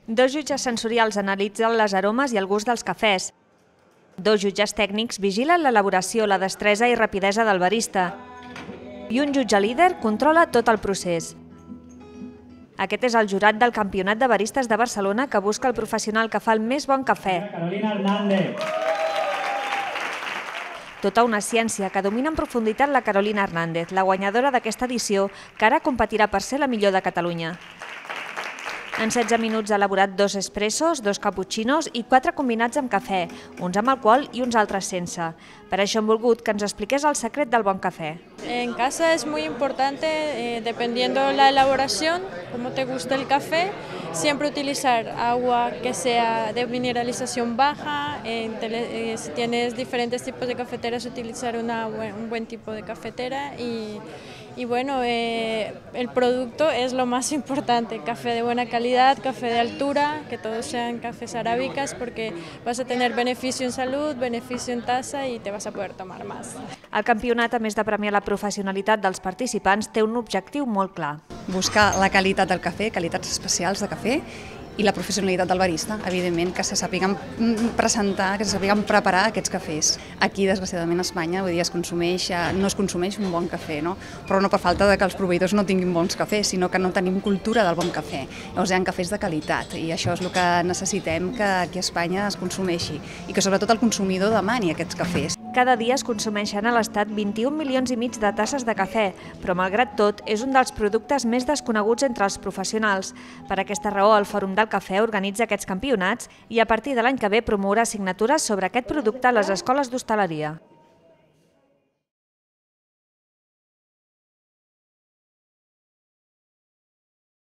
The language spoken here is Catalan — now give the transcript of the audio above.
Dos jutges sensorials analitzen les aromes i el gust dels cafès. Dos jutges tècnics vigilen l'elaboració, la destresa i rapidesa del barista. I un jutge líder controla tot el procés. Aquest és el jurat del Campionat de Baristes de Barcelona que busca el professional que fa el més bon cafè. Carolina Hernández. Tota una ciència que domina en profunditat la Carolina Hernández, la guanyadora d'aquesta edició, que ara competirà per ser la millor de Catalunya. En 16 minuts ha elaborat 2 espressos, 2 caputxinos i 4 combinats amb cafè, uns amb alcohol i uns altres sense. Per això hem volgut que ens expliqués el secret del bon café. En casa es muy importante, dependiendo la elaboración, cómo te gusta el café, siempre utilizar agua que sea de mineralización baja. Si tienes diferentes tipos de cafeteras, utilizar un buen tipo de cafetera y bueno, el producto es lo más importante, café de buena calidad, café de altura, que todos sean cafés arábicas porque vas a tener beneficio en salud, beneficio en taza y te vas a poder tomar más. El campionat, a més de premiar la professionalitat dels participants, té un objectiu molt clar. Buscar la qualitat del cafè, qualitats especials de cafè, i la professionalitat del barista, evidentment, que se sàpiguen presentar, que se sàpiguen preparar aquests cafès. Aquí, desgraciadament, a Espanya, avui dia no es consumeix un bon cafè, no? Però no per falta de que els proveïdors no tinguin bons cafès, sinó que no tenim cultura del bon cafè. Llavors hi ha cafès de qualitat i això és el que necessitem que aquí a Espanya es consumeixi i que sobretot el consumidor demani aquests cafès. Cada dia es consumeixen a l'Estat 21 milions i mig de tasses de cafè, però malgrat tot és un dels productes més desconeguts entre els professionals. Per aquesta raó, el Fòrum del Cafè organitza aquests campionats i a partir de l'any que ve promourà assignatures sobre aquest producte a les escoles d'hostaleria.